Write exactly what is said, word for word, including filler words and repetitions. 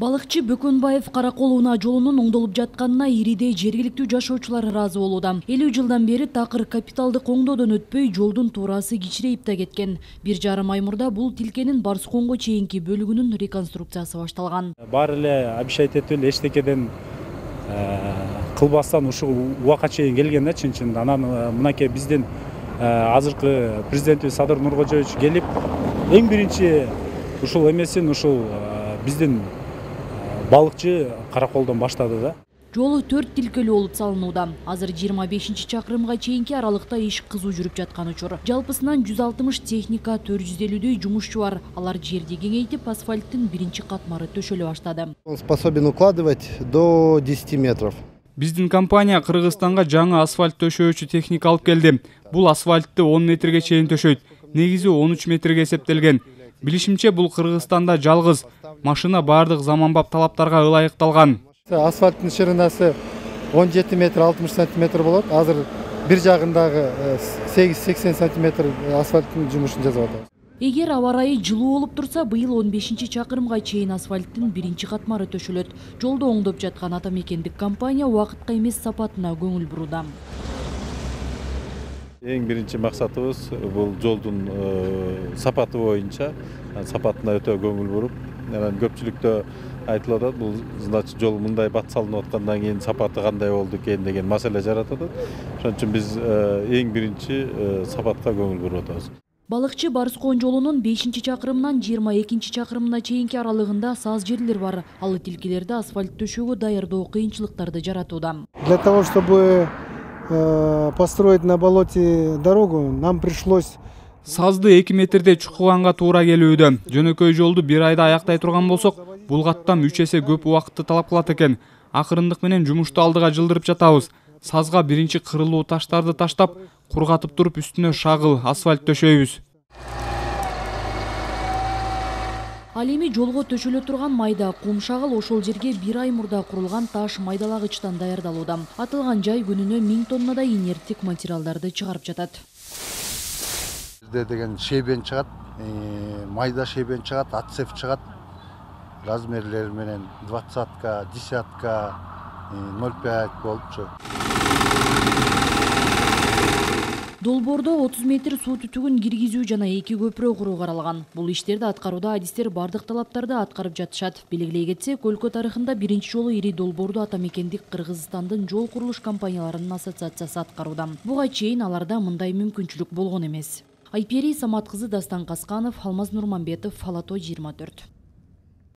Балыкчы Бөкөнбаев Каракол унаа жолунун оңдолуп жатканына Иридей жергиликтүү жашоочулар ыраазы болууда. элүү жылдан бери такыр капиталдык оңдоодон өтпөй жолдун туурасы кичирейип да кеткен. Бир жарым ай мурда бул тилкенин Барсконго чейинки бөлүгүнүн реконструкциясы башталган. Баары эле обещать этип эле эчтекеден кылбастан ушул убакка чейин келген да чын-чын. Анан мынакей биздин азыркы президентибиз Садыр Нуркожоевич келип эң биринчи ушул эмесин ушул биздин балыкчы Караколдон баштады да. Жолу төрт тилкелүү болуп салынууда. Азыр жыйырма бешинчи чакырымга чейинки аралыкта иш кызуу жүрүп жаткан учур. Жалпысынан жүз алтымыш техника, төрт жүз элүүдөй жумушчу бар. Алар жерди кеңейтип, асфальттын биринчи катмары төшөлө баштады. Он способен укладывать до десяти метров. Биздин компания Кыргызстанга жаңы асфальт төшөөчү техника алып келди. Бул асфальтты он метрге чейин төшөйт. Негизи он үч метрге эсептелген. Билишимче, бул Кыргызстанда жалгыз. Машина бардык заманбап талаптарга ылайыкталган. Асфальттын ширинасы он жети метр алтымыш сантиметр болот. Азыр бир жагындагы сегиз сексен сантиметр асфальттын жумушун жасап атабыз. Эгер аба ырайы жылуу болуп турса, быйыл он бешинчи чакырымга чейин асфальттын биринчи катмары төшөлөт. Жолду оңдоп жаткан ата мекендик компания убакытка эмес сапатына көңүл бурууда. Эң биринчи максатыбыз бул жолдун сапаты боюнча сапатына өтө көңүл буруп, анан көпчүлүктө айтылып атат, бул значит жол мындай бат салынып аткандан кийин сапаты кандай болду экен деген маселе жаратат. Ошон үчүн биз эң биринчи сапатка көңүл буруп атабыз. Балыкчы Барскон жолунун бешинчи чакырымынан жыйырма экинчи чакырымына чейинки аралыгында саз жерлер бар. Ал тилкелерди асфальт төшөөгө даярдоо кыйынчылыктарды жаратууда. Для того, чтобы построить на болоте дорогу, нам пришлось Сазды эки метрдей чукуганга туура келүүдө. Жөнөкөй жолду бир айда аяктай турган болсок, бул каттам үч эсе көп убакытты талап кылат экен. Акырындык менен жумушту алдыга жылдырып жатабыз. Сазга биринчи кырылуу таштарды таштап, кургатып туруп үстүнө шагыл асфальт төшөйбүз. Ал эми жолго төшөлө турган майда кум шагыл ошол жерге бир ай мурда курулган таш майдалагычтан даярдалууда. Атылган жай күнүнө миң тоннадай инерттик материалдарды чыгарып жатат. Бизде деген шейбен чыгат, майда шейбен чыгат, отсев чыгат. Размерлери менен двадцатка, десятка, ноль пять болчу. Долбоордо отуз метр суу түтүгүн киргизүү жана эки көпүрө куруу каралган. Бул иштерди аткарууда адистер бардык талаптарды аткарып жатышат. Белгилей кетсек, өлкө тарыхында биринчи жолу ири долбоорду ата мекендик Кыргызстандын жол курулуш компанияларынын ассоциациясы аткарууда. Буга чейин аларда мындай мүмкүнчүлүк болгон эмес. Айпери Самат кызы, Дастан Касканов, Алмаз Нурманбетов, Ала то жыйырма төрт.